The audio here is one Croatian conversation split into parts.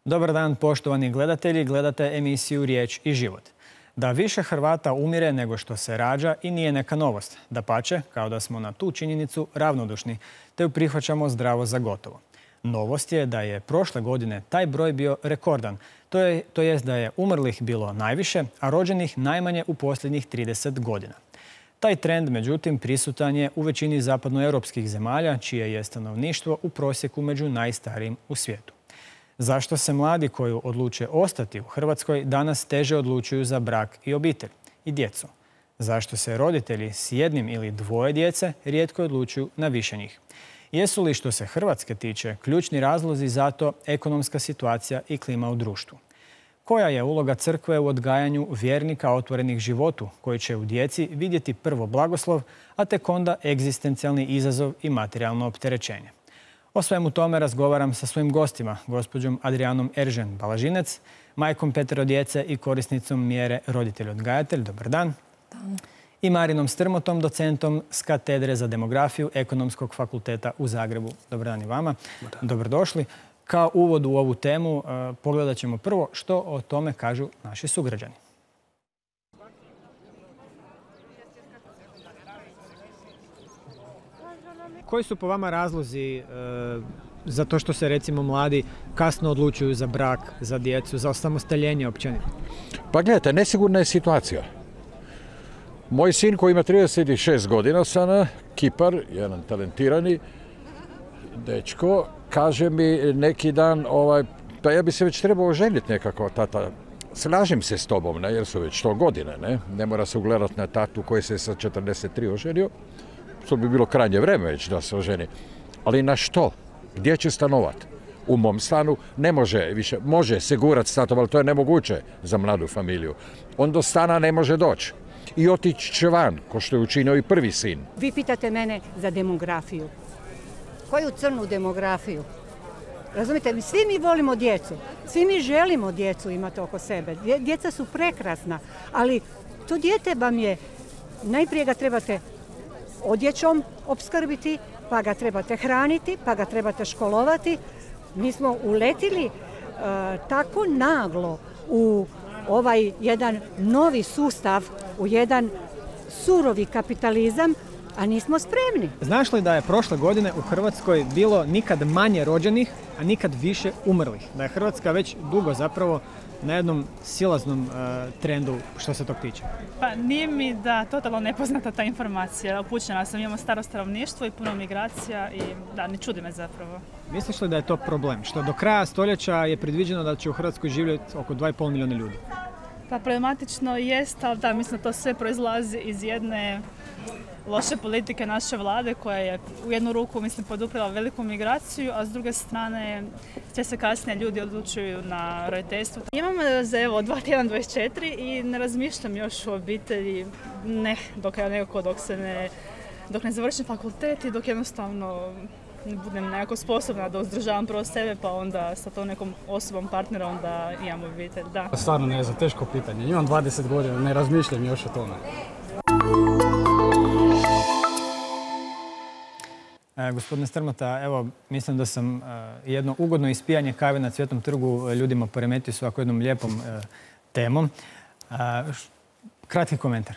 Dobar dan, poštovani gledatelji. Gledate emisiju Riječ i život. Da više Hrvata umire nego što se rađa i nije neka novost. Dapače, kao da smo na tu činjenicu ravnodušni, te ju prihvaćamo zdravo za gotovo. Novost je da je prošle godine taj broj bio rekordan. To jest da je umrlih bilo najviše, a rođenih najmanje u posljednjih 30 godina. Taj trend, međutim, prisutan je u većini zapadnoeuropskih zemalja, čije je stanovništvo u prosjeku među najstarijim u svijetu. Zašto se mladi koji odluče ostati u Hrvatskoj danas teže odlučuju za brak i obitelj i djecu? Zašto se roditelji s jednim ili dvoje djece rijetko odlučuju na više njih? Jesu li, što se Hrvatske tiče, ključni razlozi za to ekonomska situacija i klima u društvu? Koja je uloga crkve u odgajanju vjernika otvorenih životu, koji će u djeci vidjeti prvo blagoslov, a tek onda egzistencijalni izazov i materijalno opterećenje? O svemu tome razgovaram sa svojim gostima, gospođom Adrijanom Eržen-Balažinec, majkom 5 djece i korisnicom mjere roditelj-odgajatelj. Dobar dan. I Marinom Strmotom, docentom s katedre za demografiju Ekonomskog fakulteta u Zagrebu. Dobar dan i vama. Dobrodošli. Kao uvod u ovu temu pogledat ćemo prvo što o tome kažu naši sugrađani. Koji su po vama razlozi za to što se, recimo, mladi kasno odlučuju za brak, za djecu, za osamostaljenje općenito? Pa gledajte, nesigurna je situacija. Moj sin koji ima 36 godina sada, Kipar, jedan talentirani dečko, kaže mi neki dan, pa ja bi se već trebao oženiti nekako, tata. Slažem se s tobom, jer su već 100 godine, ne mora se ugledati na tatu koji se sa 43 oženio. To bi bilo krajnje vreme već da se oženi. Ali na što? Gdje će stanovati? U mom stanu ne može više. Može segurati statom, ali to je nemoguće za mladu familiju. On do stana ne može doći. I otići će van, ko što je učinio i prvi sin. Vi pitate mene za demografiju. Koju crnu demografiju? Razumite, svi mi volimo djecu. Svi mi želimo djecu imati oko sebe. Djeca su prekrasna, ali to dijete vam je, najprije ga trebate odjećom opskrbiti, pa ga trebate hraniti, pa ga trebate školovati. Mi smo uletili tako naglo u ovaj jedan novi sustav, u jedan surovi kapitalizam, a nismo spremni. Znaš li da je prošle godine u Hrvatskoj bilo nikad manje rođenih, a nikad više umrlih? Da je Hrvatska već dugo zapravo na jednom silaznom trendu što se tog tiče? Pa nije mi da totalno nepoznata ta informacija. Upućena sam, imamo staro stanovništvo i puno migracija i da, ne čudi me zapravo. Misliš li da je to problem? Što do kraja stoljeća je predviđeno da će u Hrvatskoj živjeti oko 2,5 milijuna ljudi? Pa problematično jest, ali da, mislim da to sve proizlazi iz jedne loše politike naše vlade koja je u jednu ruku, mislim, poduprela veliku migraciju, a s druge strane sve se kasnije ljudi odlučuju na roditeljstvo. Imam za 2 tjedna 24 i ne razmišljam još o obitelji, dok ne završim fakultet i dok jednostavno ne budem nekako sposobna da uzdržavam prvo sebe, pa onda sa tom nekom osobom partnera onda imam obitelj, da. Stvarno ne znam, teško pitanje. Imam 20 godina, ne razmišljam još o tome. Gospodine Strmota, evo, mislim da sam jedno ugodno ispijanje kave na Cvjetnom trgu ljudima poremetio s ovako jednom lijepom temom. Kratki komentar.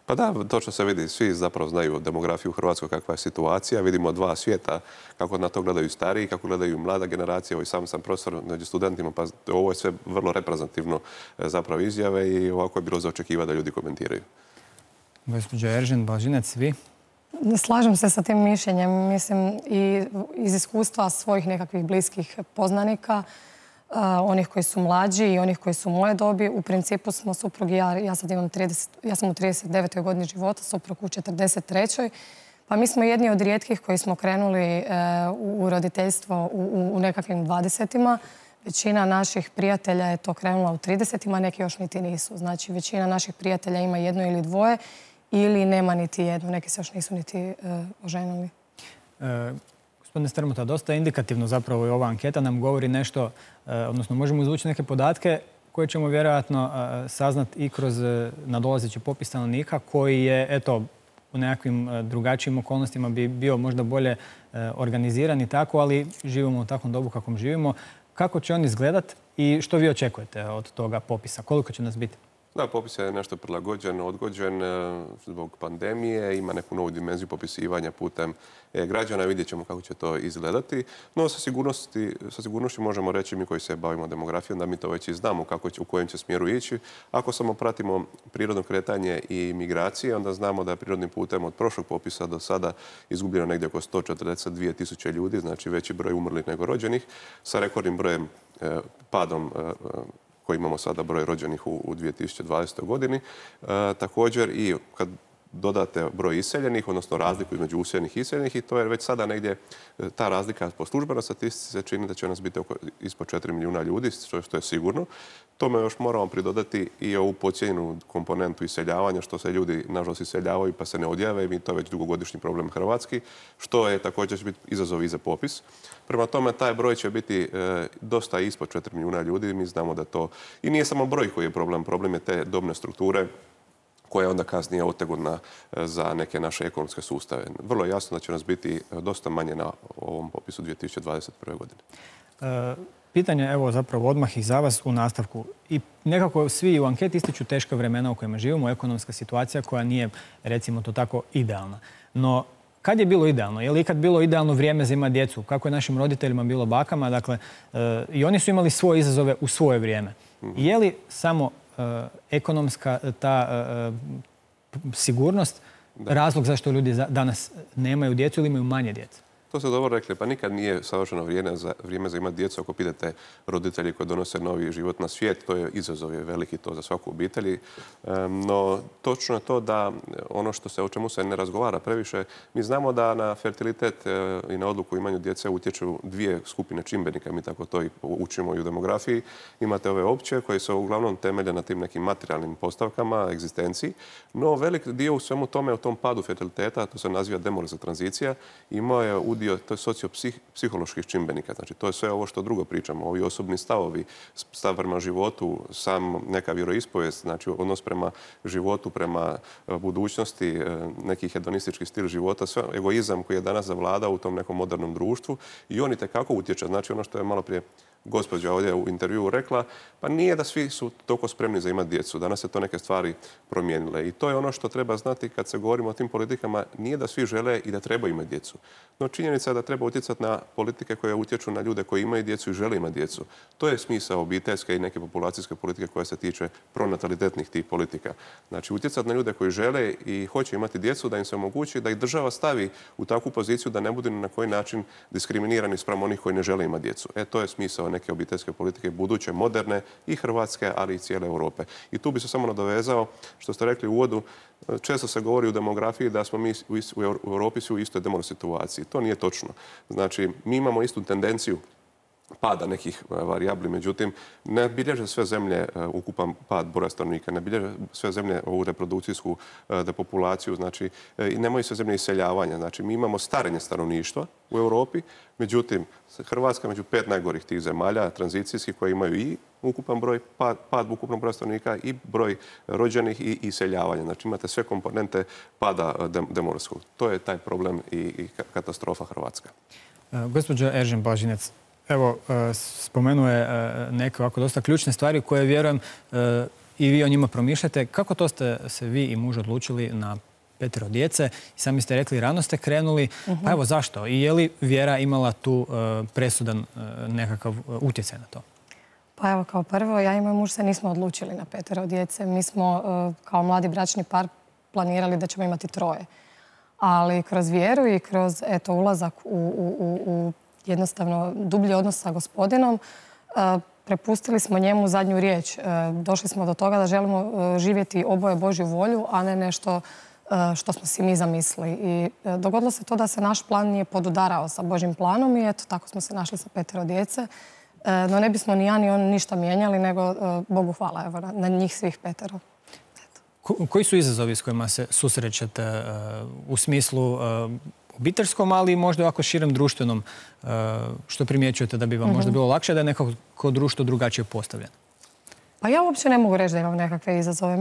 Pa da, točno se vidi. Svi zapravo znaju demografiju u Hrvatskoj, kakva je situacija. Vidimo dva svijeta, kako na to gledaju stariji, kako gledaju mlada generacija. Ovo sam profesor među studentima, pa ovo je sve vrlo reprezentativno zapravo izjave i ovako je bilo za očekivati da ljudi komentiraju. Gospođo Eržen-Balažinec, vi? Slažem se sa tim mišljenjem. Mislim, i iz iskustva svojih nekakvih bliskih poznanika, onih koji su mlađi i onih koji su moje dobi. U principu smo suprug i ja sad imam ja sam u 39. godini života, suprug u 43. Pa mi smo jedni od rijetkih koji smo krenuli u roditeljstvo u nekakvim 20-ima. Većina naših prijatelja je to krenula u 30-ima, neki još niti nisu. Znači, većina naših prijatelja ima jedno ili dvoje ili nema niti jednu. Neki se još nisu niti oženili. Gospodine Strmota, dosta indikativno zapravo i ova anketa nam govori nešto, odnosno možemo izvući neke podatke koje ćemo vjerojatno saznati i kroz nadolazeći popis stanovnika koji je, eto, u nekakvim drugačijim okolnostima bi bio možda bolje organiziran i tako, ali živimo u takvom dobu kakvom živimo. Kako će on izgledat I što vi očekujete od toga popisa? Koliko će nas biti? Da, popis je nešto prilagođen, odgođen zbog pandemije, ima neku novu dimenziju popisivanja putem građana, vidjet ćemo kako će to izgledati. No, sa sigurnošću možemo reći mi koji se bavimo demografijom da mi to već i znamo u kojem će smjeru ići. Ako samo pratimo prirodno kretanje i migracije, onda znamo da je prirodnim putem od prošlog popisa do sada izgubljeno negdje oko 142.000 ljudi, znači veći broj umrlih nego rođenih, sa rekordnim brojem padom koji imamo sada broj rođenih u 2020. godini. Također i kad dodate broj iseljenih, odnosno razliku između useljenih i iseljenih, i to je već sada negdje ta razlika po službenoj statistici se čini da će nas biti ispod 4 milijuna ljudi, što je sigurno. Tome još moramo pridodati i ovu podcijenjenu komponentu iseljavanja, što se ljudi nažalost iseljavaju pa se ne odjave, i to je već dugogodišnji problem hrvatski, što je također će biti izazov i za popis. Prema tome, taj broj će biti dosta ispod 4 milijuna ljudi. Mi znamo da to i nije samo broj koji je problem, problem je te dobne strukture koja je onda kasnije otegotna za neke naše ekonomske sustave. Vrlo je jasno da će nas biti dosta manje na ovom popisu 2021. godine. Pitanje, evo zapravo odmah i za vas u nastavku. I nekako svi u anketi ističu teška vremena u kojima živimo, ekonomska situacija koja nije, recimo to tako, idealna. No, kad je bilo idealno? Je li ikad bilo idealno vrijeme za imati djecu? Kako je našim roditeljima bilo, bakama? Dakle, i oni su imali svoje izazove u svoje vrijeme. Je li samo ekonomska ta sigurnost razlog zašto ljudi danas nemaju djecu ili imaju manje djece? To ste dobro rekli, pa nikad nije savršeno vrijeme za imati djecu. Ako pitate roditelji koji donose novi život na svijet, to je izazov je veliki to za svaku obitelji. No, točno je to da ono o čemu se ne razgovara previše, mi znamo da na fertilitet i na odluku o imanju djece utječu dvije skupine čimbenika, mi tako to i učimo i u demografiji. Imate ove opće koje se uglavnom temelje na tim nekim materijalnim postavkama, egzistenciji, no velik dio u svemu tome, u tom padu fertiliteta, to se naziva demografska tranzicija, imao je udio, to je sociopsiholoških čimbenika. Znači, to je sve ovo što drugo pričamo. Ovi osobni stavovi, stav prema životu, sam neka vjeroispovijest, znači odnos prema životu, prema budućnosti, neki hedonistički stil života, sve egoizam koji je danas zavladao u tom nekom modernom društvu, i on itekako utječe. Znači, ono što je malo prije gospođa ovdje u intervjuu rekla, pa nije da svi su toliko spremni za imati djecu. Danas se to neke stvari promijenile. I to je ono što treba znati kad se govorimo o tim politikama. Nije da svi žele i da treba imati djecu. No, činjenica je da treba utjecati na politike koje utječu na ljude koji imaju djecu i žele imati djecu. To je smisao obiteljske i neke populacijske politike koja se tiče pronatalitetnih tih politika. Znači, utjecati na ljude koji žele i hoće imati djecu, da im se omogući da ih država stavi u takvu poziciju da ne budu na koji način diskriminirani spram onih koji ne žele imati djecu. To je smisao neke obiteljske politike, buduće, moderne i hrvatske, ali i cijele Europe. I tu bi se samo nadovezao, što ste rekli u uvodu, često se govori u demografiji da smo mi u Europi svi u istoj demografskoj situaciji. To nije točno. Znači, mi imamo istu tendenciju pada nekih varijabli, međutim, ne bilježe sve zemlje ukupan pad broja stanovnika, ne bilježe sve zemlje ovu reprodukcijsku depopulaciju, znači, i nemaju sve zemlje iseljavanja. Znači, mi imamo starenje stanovništva u Europi, međutim, Hrvatska među 5 najgorih tih zemalja, tranzicijskih, koje imaju i ukupan broj, pad ukupnog broja stanovnika i broj rođenih i iseljavanja. Znači, imate sve komponente pada demografskog. To je taj problem i katastrofa Hrvatska. Gospođo Eržen-Blažinec, evo, spomenuo je neke ovako dosta ključne stvari koje, vjerujem, i vi o njima promišljate. Kako to ste se vi i muž odlučili na 5 djece? I sami ste rekli, rano ste krenuli. Pa evo, zašto? I je li vjera imala tu presudan nekakav utjecaj na to? Pa evo, kao prvo, ja i moj muž se nismo odlučili na 5 djece. Mi smo kao mladi bračni par planirali da ćemo imati 3. Ali kroz vjeru i kroz ulazak u jednostavno dublji odnos sa Gospodinom, prepustili smo njemu zadnju riječ. Došli smo do toga da želimo živjeti oboje Božju volju, a ne nešto što smo si mi zamislili. I dogodilo se to da se naš plan nije podudarao sa Božjim planom i eto, tako smo se našli sa 5 djece. No ne bismo ni ja ni on ništa mijenjali, nego Bogu hvala, evo, na njih svih 5. Koji su izazovi s kojima se susrećete u smislu obiteljskom, ali možda ovako širem društvenom, što primjećujete da bi vam možda bilo lakše, da je nekako društvo drugačije postavljeno? Pa ja uopće ne mogu reći da imam nekakve izazove.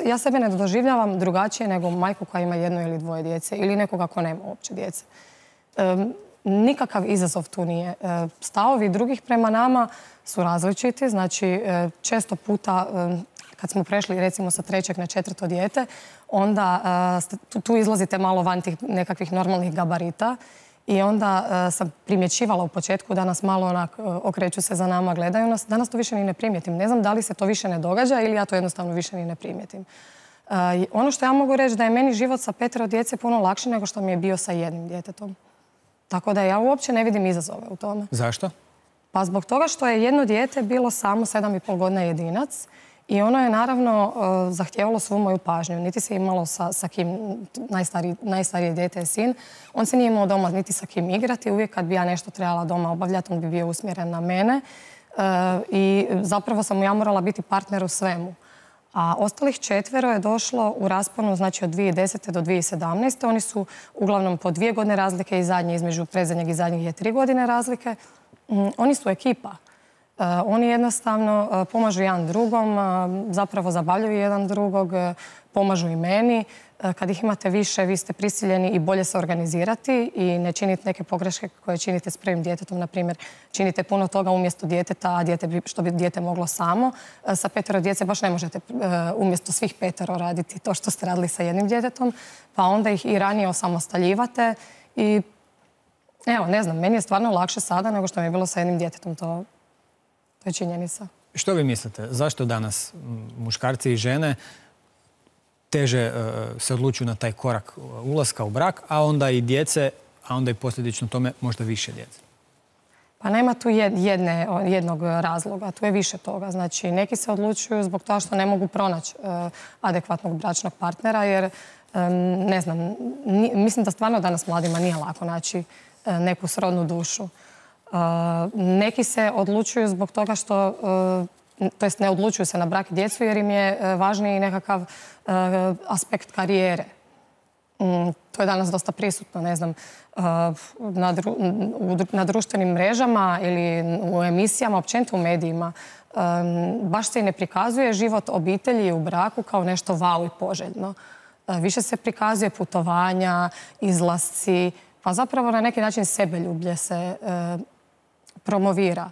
Ja sebe ne doživljavam drugačije nego majku koja ima 1 ili 2 djece ili nekoga ko nema uopće djece. nikakav izazov tu nije. Stavovi drugih prema nama su različiti. Znači, često puta kad smo prešli recimo sa 3. na 4. dijete, onda tu izlazite malo van tih nekakvih normalnih gabarita i onda sam primjećivala u početku da nas malo onak okreću se za nama, gledaju nas. Danas to više ni ne primijetim. Ne znam da li se to više ne događa ili ja to jednostavno više ni ne primijetim. Ono što ja mogu reći da je meni život sa 5 djece puno lakši nego što mi je bio sa 1 djetetom. Tako da ja uopće ne vidim izazove u tome. Zašto? Pa zbog toga što je 1 dijete bilo samo 7,5 godina jedinac i ono je naravno zahtijevalo svu moju pažnju. Niti se imalo sa kim, najstarije dijete je sin, on se nije imao doma niti sa kim igrati. Uvijek kad bi ja nešto trebala doma obavljati, on bi bio usmjeren na mene i zapravo sam mu ja morala biti partner u svemu. A ostalih 4 je došlo u rasponu, znači od 2010. do 2017. Oni su uglavnom po 2 godine razlike i zadnji, između predzadnjeg i zadnjeg je 3 godine razlike. Oni su ekipa. Oni jednostavno pomažu jedan drugom, zapravo zabavljaju jedan drugog, pomažu i meni. Kad ih imate više, vi ste prisiljeni i bolje se organizirati i ne činiti neke pogreške koje činite s prvim djetetom. Na primjer, činite puno toga umjesto djeteta, a što bi dijete moglo samo. Sa 5 djece baš ne možete umjesto svih 5 raditi to što ste radili sa 1 djetetom, pa onda ih i ranije osamostaljivate i evo, ne znam, meni je stvarno lakše sada nego što mi je bilo sa 1 djetetom, to je činjenica. Što vi mislite? Zašto danas muškarci i žene teže se odlučuju na taj korak ulaska u brak, a onda i djece, a onda i posljedično tome možda više djece? Pa nema tu jednog razloga, tu je više toga. Znači, neki se odlučuju zbog toga što ne mogu pronaći adekvatnog bračnog partnera, jer, ne znam, mislim da stvarno danas mladima nije lako naći neku srodnu dušu. Neki se odlučuju zbog toga što, to jest ne odlučuju se na brak i djecu jer im je važniji nekakav aspekt karijere. To je danas dosta prisutno, ne znam, na društvenim mrežama ili u emisijama, općenito u medijima. Baš se i ne prikazuje život obitelji u braku kao nešto vau i poželjno. Više se prikazuje putovanja, izlasci, pa zapravo na neki način sebeljublje se promovira.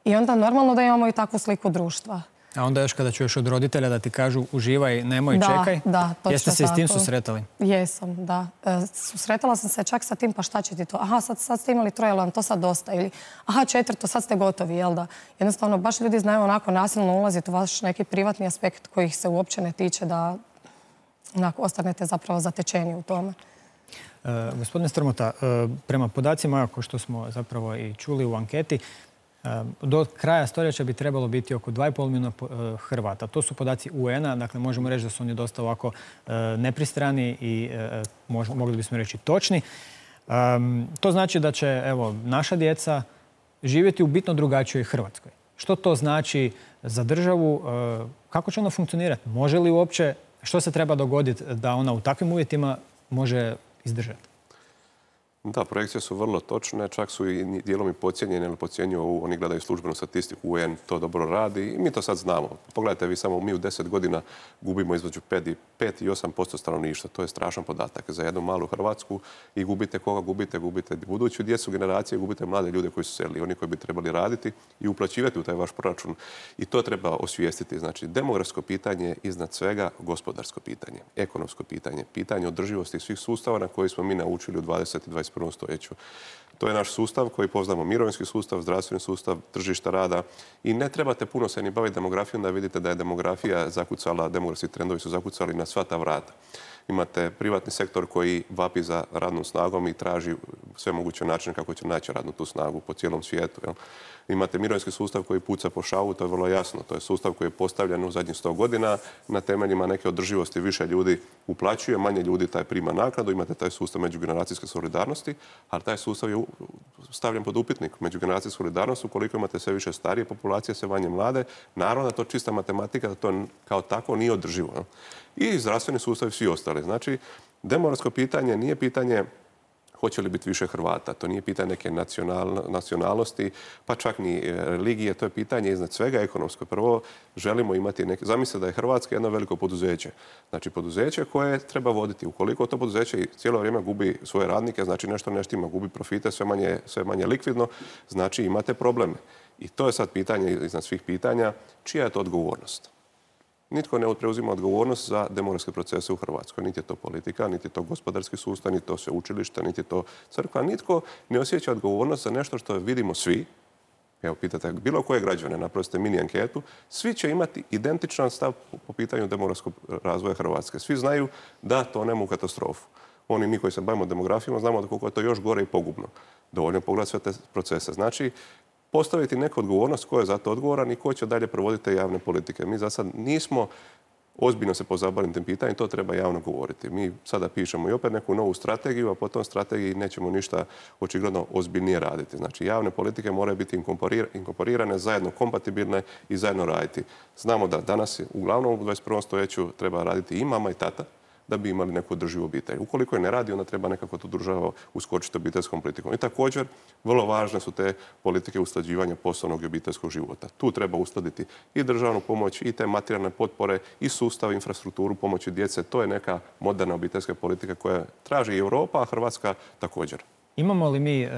I onda normalno da imamo i takvu sliku društva. A onda još kada čuješ od roditelja da ti kažu uživaj, nemoj, čekaj. Da, točno. Jeste se i s tim susretali? Jesam, da. Susretala sam se čak sa tim, pa šta će ti to? Aha, sad ste imali 3, jel vam to sad dosta? Ili aha, 4, sad ste gotovi, jel da? Jednostavno, baš ljudi znaju onako nasilno ulaziti u vaš neki privatni aspekt koji ih se uopće ne tiče, da onako ostanete zapravo zatečeni u tome. Gospodine Strmota, prema podacima kao što smo zapravo i čuli u anketi, do kraja stoljeća bi trebalo biti oko 2,5 milijuna Hrvata. To su podaci UN-a, dakle možemo reći da su oni dosta ovako nepristrani i mogli bismo reći točni. To znači da će naša djeca živjeti u bitno drugačijoj Hrvatskoj. Što to znači za državu? Kako će ona funkcionirati? Može li uopće, što se treba dogoditi da ona u takvim uvjetima može izdržati? Da, projekcije su vrlo točne, čak su i dijelom i podcijenjene ili podcjenjuju, oni gledaju službenu statistiku, UN to dobro radi i mi to sad znamo. Pogledajte vi samo, mi u 10 godina gubimo između 5 i 8% stanovništva. To je strašan podatak za jednu malu Hrvatsku i gubite koga gubite? Gubite buduću djecu generacije, gubite mlade ljude koji su selili, oni koji bi trebali raditi i uplaćivati u taj vaš proračun. I to treba osvijestiti. Znači, demografsko pitanje je iznad svega gospodarsko pitanje, ekonomsko pitanje, pitanje održivosti svih sustava na koji smo mi naučili u 20. i 21. stoljeću. To je naš sustav koji poznamo, mirovinski sustav, zdravstveni sustav, tržišta rada i ne trebate puno se ni baviti demografijom da vidite da je demografija zakucala, demografski trendovi su zakucali na sva ta vrata. Imate privatni sektor koji vapi za radnom snagom i traži sve moguće načine kako će naći radnu tu snagu po cijelom svijetu. Jel? Imate mirovinski sustav koji puca po šavu, to je vrlo jasno. To je sustav koji je postavljen u zadnjih 100 godina na temeljima neke održivosti. Više ljudi uplaćuje, manje ljudi taj prima naknadu. Imate taj sustav međugeneracijske solidarnosti, ali taj sustav je stavljen pod upitnik. Međugeneracijska solidarnost, ukoliko imate sve više starije populacije, sve manje mlade, naravno da to čista matematika, da to kao tako nije održivo. Jel? I zdravstveni sustav i svi ostali. Znači, demografsko pitanje nije pitanje hoće li biti više Hrvata. To nije pitanje neke nacionalnosti, pa čak ni religije. To je pitanje iznad svega ekonomsko. Prvo, želimo imati neke... Zamislite da je Hrvatska jedno veliko poduzeće. Znači, poduzeće koje treba voditi. Ukoliko to poduzeće cijelo vrijeme gubi svoje radnike, znači nešto ne štima, gubi profite, sve manje likvidno, znači imate probleme. I to je sad pitanje iznad svih pitanja. Čija je to odgovornost? Nitko ne preuzima odgovornost za demografske procese u Hrvatskoj. Niti je to politika, niti je to gospodarski sustav, niti je to sveučilište, niti je to crkva. Nitko ne osjeća odgovornost za nešto što vidimo svi. Evo, pitate bilo koje građane, napravite mini anketu, svi će imati identičan stav po pitanju demografskog razvoja Hrvatske. Svi znaju da tonemo u katastrofu. Oni, mi koji se bavimo demografijom, znamo koliko je to još gore i pogubno. Dovoljno pogledati sve te procese. Znači, postaviti neku odgovornost ko je za to odgovoran i ko će dalje provoditi te javne politike. Mi za sad nismo ozbiljno se pozabavili tim pitanjem, to treba javno govoriti. Mi sada pišemo i opet neku novu strategiju, a po tom strategiji nećemo ništa očigledno ozbiljnije raditi. Znači, javne politike moraju biti inkorporirane, zajedno kompatibilne i zajedno raditi. Znamo da danas, uglavnom u 21. stoljeću, treba raditi i mama i tata da bi imali neku održivu obitelj. Ukoliko je ne radi, onda treba nekako tu država uskočiti obiteljskom politikom. I također, vrlo važne su te politike usklađivanja poslovnog i obiteljskog života. Tu treba uskladiti i državnu pomoć, i te materijalne potpore, i sustav, infrastrukturu pomoći djece. To je neka moderna obiteljska politika koja traži i Europa, a Hrvatska također. Imamo li mi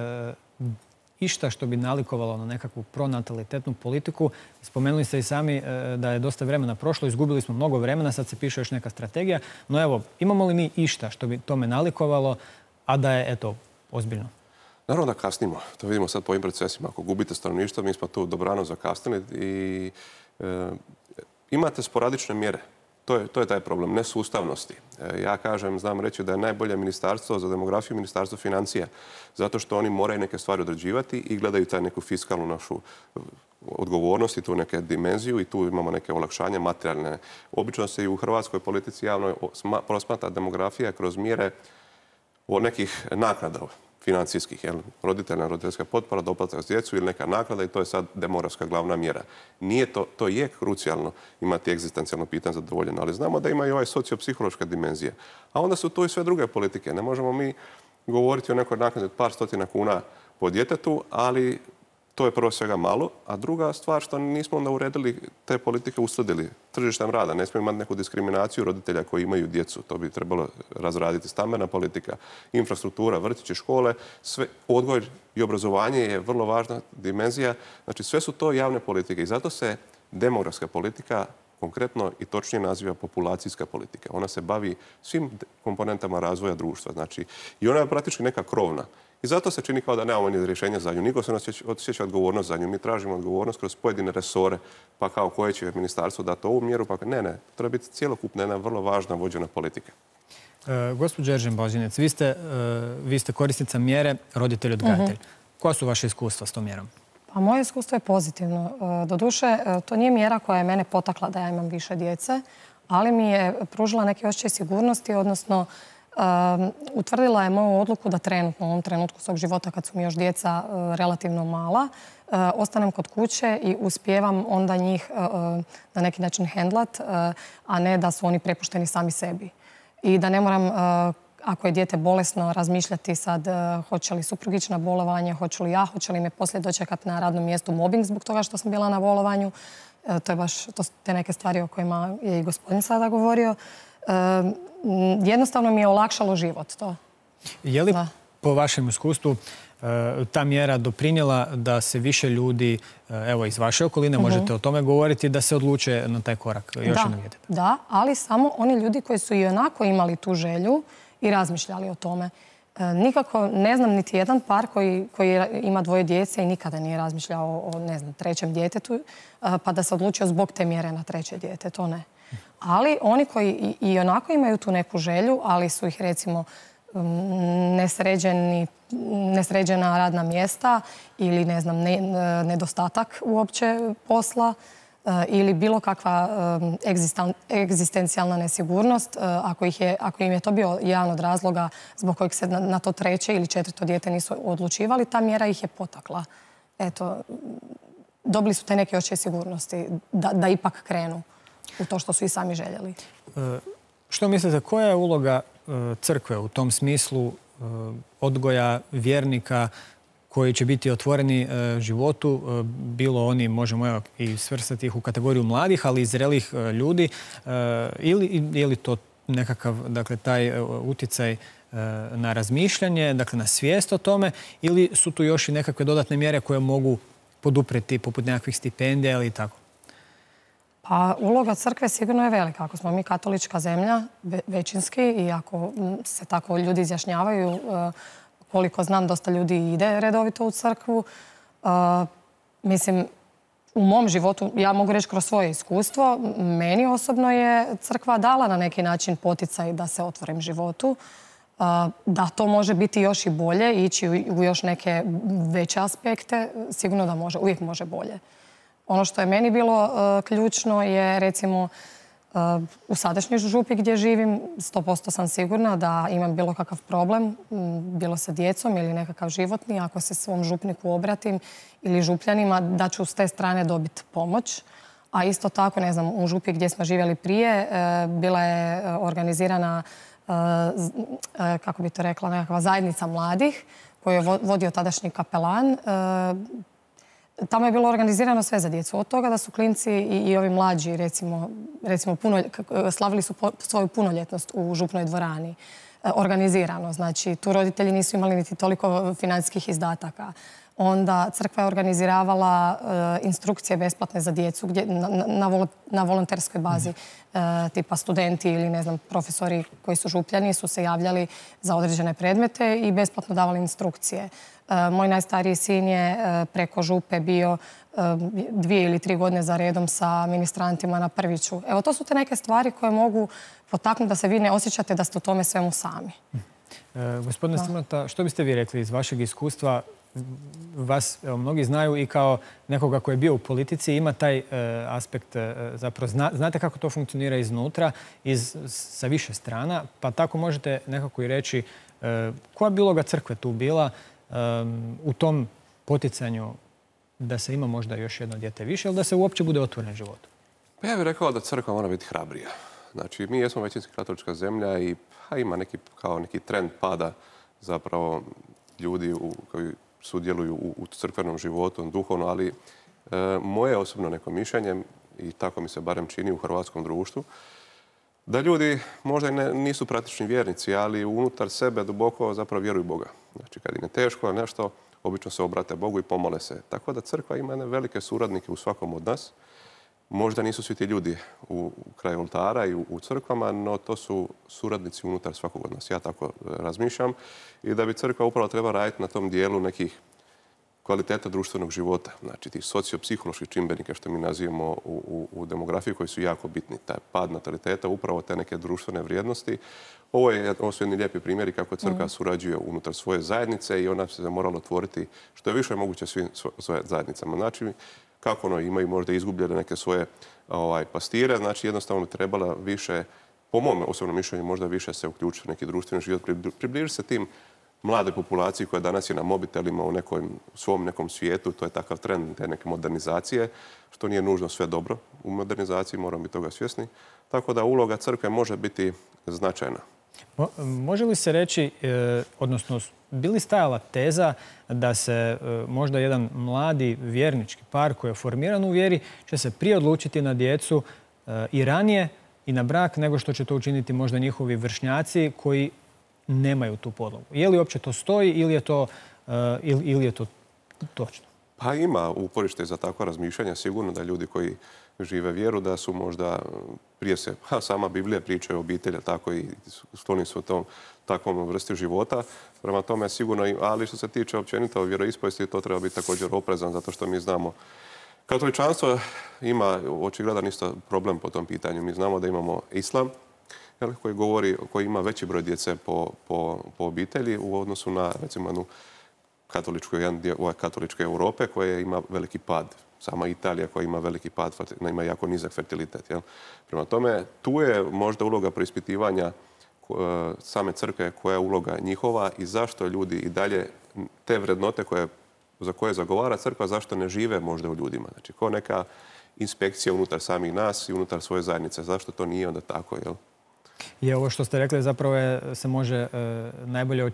išta što bi nalikovalo na nekakvu pronatalitetnu politiku? Spomenuli ste i sami da je dosta vremena prošlo, izgubili smo mnogo vremena, sad se piše još neka strategija. No evo, imamo li mi išta što bi tome nalikovalo, a da je, eto, ozbiljno? Naravno da kasnimo. To vidimo sad po ovim procesima. Ako gubite stanovništvo, mi smo tu dobrano zakasnili i imate sporadične mjere. To je taj problem, nesustavnosti. Ja znam reći da je najbolje ministarstvo za demografiju ministarstvo financija, zato što oni moraju neke stvari određivati i gledaju taj neku fiskalnu našu odgovornost i tu neke dimenziju i tu imamo neke olakšanje materijalne. Obično se i u hrvatskoj politici javno prosmatra demografija kroz mjere nekih naknada financijskih, roditeljna roditeljska potpora, doplatak za djecu ili neka naknada i to je sad demografska glavna mjera. Nije to je krucijalno imati egzistencijalno pitanje zadovoljeno, ali znamo da ima i ovaj sociopsihološka dimenzija. A onda su tu i sve druge politike. Ne možemo mi govoriti o nekoj naknadi od par stotina kuna po djetetu, ali to je prvo svega malo, a druga stvar što nismo onda uredili te politike, uskladili tržištem rada. Ne smijemo imati neku diskriminaciju roditelja koji imaju djecu. To bi trebalo razraditi. Stambena politika, infrastruktura, vrtići, škole, sve, odgoj i obrazovanje je vrlo važna dimenzija. Znači sve su to javne politike i zato se demografska politika konkretno i točnije naziva populacijska politika. Ona se bavi svim komponentama razvoja društva. Znači, i ona je praktički neka krovna. I zato se čini kao da nemamo ni rješenja za nju. Niko se ne osjeća odgovornost za nju. Mi tražimo odgovornost kroz pojedine resore, pa kao koje će ministarstvo dati ovu mjeru, pa ne. Treba biti cjelokupna jedna vrlo važna vođena politika. Gospođo Eržen-Božinec, vi ste korisnica mjere roditelj odgajatelj. Koja su vaše iskustva s tom mjerom? Pa moje iskustvo je pozitivno. Doduše, to nije mjera koja je mene potakla da ja imam više djece, ali mi je pružila neke osjećaj sigurnosti, odnosno utvrdila je moju odluku da trenutno, u ovom trenutku svog života, kad su mi još djeca relativno mala, ostanem kod kuće i uspijevam onda njih na neki način hendlat, a ne da su oni prepušteni sami sebi. I da ne moram, ako je dijete bolesno, razmišljati sad hoće li suprugić na bolovanje, hoće li me poslije dočekati na radnom mjestu mobbing zbog toga što sam bila na bolovanju. To je baš te neke stvari o kojima je i gospodin sada govorio. Jednostavno mi je olakšalo život to. Je li po vašem iskustvu ta mjera doprinijela da se više ljudi, evo iz vaše okoline, možete o tome govoriti, da se odluče na taj korak još jednog djeteta? Da, ali samo oni ljudi koji su i onako imali tu želju i razmišljali o tome. Nikako ne znam niti jedan par koji ima dvoje djece i nikada nije razmišljao o, ne znam, trećem djetetu, pa da se odlučio zbog te mjere na treće dijete, to ne. Ali oni koji i onako imaju tu neku želju, ali su ih recimo nesređena radna mjesta ili ne znam, nedostatak uopće posla ili bilo kakva egzistencijalna nesigurnost, ako im je to bio jedan od razloga zbog kojeg se na to treće ili četvrto dijete nisu odlučivali, ta mjera ih je potakla. Eto, dobili su te neke osjećaje sigurnosti da ipak krenu u to što su i sami željeli. Što mislite, koja je uloga crkve u tom smislu odgoja vjernika koji će biti otvoreni životu, bilo oni, možemo i svrstati ih u kategoriju mladih, ali i zrelih ljudi, ili je li to nekakav, dakle, taj utjecaj na razmišljanje, dakle, na svijest o tome, ili su tu još i nekakve dodatne mjere koje mogu podupreti, poput nekakvih stipendija ili tako? Pa uloga crkve sigurno je velika. Ako smo mi katolička zemlja, većinski, i ako se tako ljudi izjašnjavaju, koliko znam, dosta ljudi ide redovito u crkvu. Mislim, u mom životu, ja mogu reći kroz svoje iskustvo, meni osobno je crkva dala na neki način poticaj da se otvorim životu. Da to može biti još i bolje, ići u još neke veće aspekte, sigurno da može, uvijek može bolje. Ono što je meni bilo ključno je, recimo, u sadašnjoj župi gdje živim, 100% sam sigurna da imam bilo kakav problem, bilo sa djecom ili nekakav životni, ako se svom župniku obratim ili župljanima, da ću s te strane dobiti pomoć. A isto tako, ne znam, u župi gdje smo živjeli prije, bila je organizirana, kako bi to rekla, nekakva zajednica mladih koju je vodio tadašnji kapelan. Tamo je bilo organizirano sve za djecu. Od toga da su klinci i ovi mlađi, recimo slavili su svoju punoljetnost u župnoj dvorani. Organizirano. Znači, tu roditelji nisu imali niti toliko financijskih izdataka. Onda crkva je organiziravala instrukcije besplatne za djecu na volonterskoj bazi. Tipa studenti ili, ne znam, profesori koji su župljani su se javljali za određene predmete i besplatno davali instrukcije. Moj najstariji sin je preko župe bio 2 ili 3 godine za redom sa ministrantima na Prviću. Evo, to su te neke stvari koje mogu potaknuti da se vi ne osjećate da ste u tome svemu sami. Gospodine Strmota, što biste vi rekli iz vašeg iskustva? Vas mnogi znaju i kao nekoga koji je bio u politici, ima taj aspekt, zapravo znate kako to funkcionira iznutra, sa više strana, pa tako možete nekako i reći koja bi uloga crkve tu bila u tom poticanju da se ima možda još jedno dijete više ili da se uopće bude otvoren život? Pa ja bih rekao da crkva mora biti hrabrija. Znači, mi jesmo većinski katolička zemlja i ima neki trend pada zapravo ljudi koji sudjeluju u crkvenom životu, duhovno, ali moje osobno neko mišljenje, i tako mi se barem čini u hrvatskom društvu, da ljudi možda nisu praktični vjernici, ali unutar sebe duboko zapravo vjeruju Boga. Znači, kad im je teško nešto, obično se obrate Bogu i pomole se. Tako da crkva ima velike suradnike u svakom od nas. Možda nisu svi ti ljudi u kraju oltara i u crkvama, no to su suradnici unutar svakog od nas. Ja tako razmišljam. I da bi crkva upravo treba raditi na tom dijelu nekih kvaliteta društvenog života. Znači, tih sociopsiholoških čimbenika što mi nazivamo u demografiji koji su jako bitni. Taj pad nataliteta, upravo te neke društvene vrijednosti. Ovo su jedni lijepi primjeri kako crkva surađuje unutar svoje zajednice i ona se morala otvoriti što je više moguće svim svoje zajednicama. Znači, kako imaju možda izgubljene neke svoje pastire, znači jednostavno bi trebala više, po mom osobnom mišljenju, možda više se uključiti u neki društveni život, približiti se tim mlade populaciji koja danas je na mobitelima u svom nekom svijetu. To je takav trend te neke modernizacije, što nije nužno sve dobro u modernizaciji, moramo biti toga svjesni. Tako da uloga crkve može biti značajna. Može li se reći, odnosno bi li stajala teza da se možda jedan mladi vjernički par koji je formiran u vjeri će se prije odlučiti na djecu i ranije i na brak nego što će to učiniti možda njihovi vršnjaci koji nemaju tu podlogu? Je li uopće to stoji ili je to točno? Pa ima uporište za takvo razmišljanje. Sigurno da ljudi koji žive vjeru da su možda prije se, sama Biblija priča o obitelji, tako i skloni su tom takvom vrsti života. Prema tome sigurno, ali što se tiče općenito vjeroispovijesti, to treba biti također oprezan, zato što mi znamo katoličanstvo ima očigledan isto problem po tom pitanju. Mi znamo da imamo islam koji ima veći broj djece po obitelji u odnosu na, recimo, jednu katoličke Europe koja ima veliki pad. Sama Italija koja ima veliki pad, ima jako nizak fertilitet. Prema tome, tu je možda uloga preispitivanja same crkve, koja je uloga njihova i zašto ljudi i dalje te vrednote za koje zagovara crkva, zašto ne žive možda u ljudima. Znači, kao neka inspekcija unutar samih nas i unutar svoje zajednice. Zašto to nije onda tako, jel? I ovo što ste rekli zapravo se može najbolje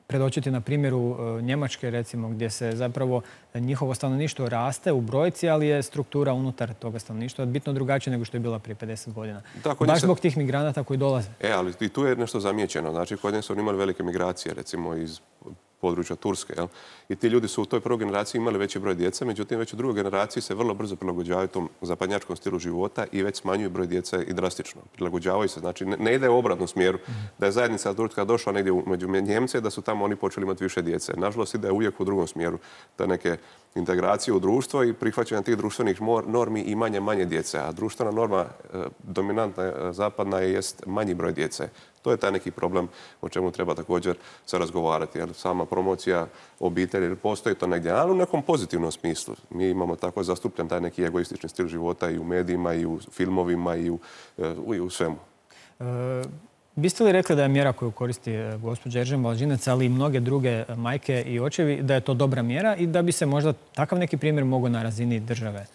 predočiti na primjeru Njemačke, recimo, gdje se zapravo njihovo stanovništvo raste u brojci, ali je struktura unutar toga stanovništva bitno drugačija nego što je bila prije 50 godina. Baš zbog tih migranata koji dolaze. Ali i tu je nešto zamijećeno. Znači, kod njih su imali velike migracije, recimo iz područja Turske. I ti ljudi su u toj prvoj generaciji imali veći broj djece, međutim već u drugoj generaciji se vrlo brzo prilagođavaju tom zapadnjačkom stilu života i već smanjuju broj djece i drastično. Prilagođavaju se. Znači ne ide u obratnom smjeru. Da je zajednica Turska došla negdje među Njemce, da su tamo oni počeli imati više djece. Nažalost ide uvijek u drugom smjeru. Da neke integracije u društvo i prihvaćanje tih društvenih normi i manje djece. A društvena norma dominantna zapadna jest manji broj djece. To je taj neki problem o čemu treba također se razgovarati. Jer sama promocija obitelji, postoji to negdje, ali u nekom pozitivnom smislu. Mi imamo tako zastupljen taj neki egoistični stil života i u medijima, i u filmovima, i u svemu. Biste li rekli da je mjera koju koristi gospođa Eržen Blažinac, ali i mnoge druge majke i očevi, da je to dobra mjera i da bi se možda takav neki primjer mogao na razini države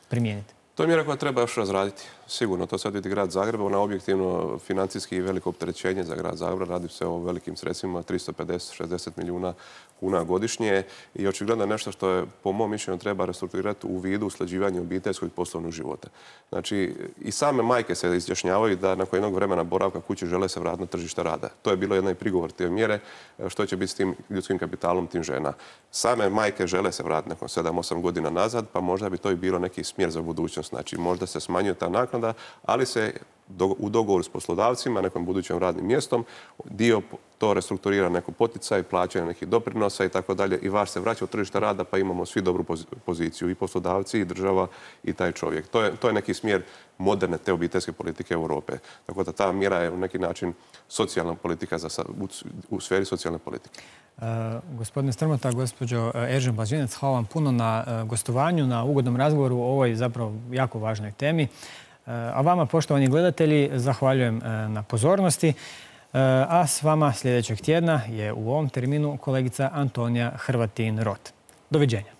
primijeniti? To je mjera koja treba još razraditi. Sigurno, to sad vidi grad Zagreb. Ona je objektivno financijski veliko opterećenje za grad Zagreb. Radi se o velikim sredstvima, 350-60 milijuna kuna godišnje. I očigledno je nešto što je, po mom mišljenju, treba restrukturirati u vidu usklađivanja obiteljskog i poslovnog života. Znači, i same majke se izjašnjavaju da nakon jednog vremena boravka kući žele se vratiti na tržište rada. To je bilo jedan prigovor te mjere, što će biti s tim ljudskim kapitalom tim žena. Same majke žele se vratiti nakon 7-8 godina nazad, pa možda bi to i bilo neki smjer za budućnost. Znači, možda se smanjuje ta naknada, ali se u dogovoru s poslodavcima, nekom budućim radnim mjestom, dio to restrukturira neko poticaj, plaćanje nekih doprinosa i tako dalje i vas se vraća u tržište rada pa imamo svi dobru poziciju i poslodavci i država i taj čovjek. To je neki smjer moderne te obiteljske politike Europe. Tako da ta mjera je u neki način socijalna politika u sferi socijalne politike. Gospodine Strmota, gospođo Eržen Blažinac, hvala vam puno na gostovanju, na ugodnom razgovoru o ovoj zapravo jako važnoj temi. A vama, poštovani gledatelji, zahvaljujem na pozornosti. A s vama sljedećeg tjedna je u ovom terminu kolegica Antonija Hrvatin-Rot. Doviđenja.